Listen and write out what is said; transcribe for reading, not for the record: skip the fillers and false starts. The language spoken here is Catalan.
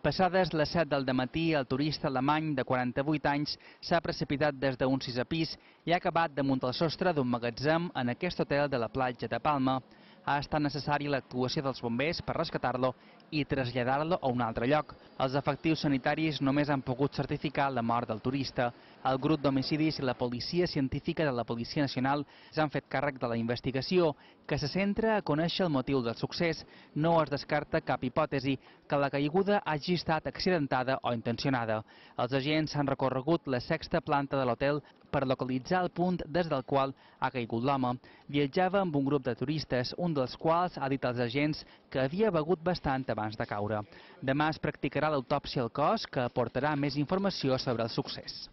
Passades les 7 del dematí, el turista alemany de 48 anys s'ha precipitat des d'un 6è pis i ha acabat damunt el sostre d'un magatzem en aquest hotel de la platja de Palma. Ha estat necessària l'actuació dels bombers per rescatar-lo i traslladar-lo a un altre lloc. Els efectius sanitaris només han pogut certificar la mort del turista. El grup d'homicidis i la policia científica de la Policia Nacional s'han fet càrrec de la investigació, que se centra a conèixer el motiu del succés. No es descarta cap hipòtesi que la caiguda hagi estat accidentada o intencionada. Els agents han recorregut la 6a planta de l'hotel per localitzar el punt des del qual ha caigut l'home. Viatjava amb un grup de turistes, un dels quals ha dit als agents que havia begut bastant abans de caure. Demà es practicarà l'autòpsia al cos, que aportarà més informació sobre el succés.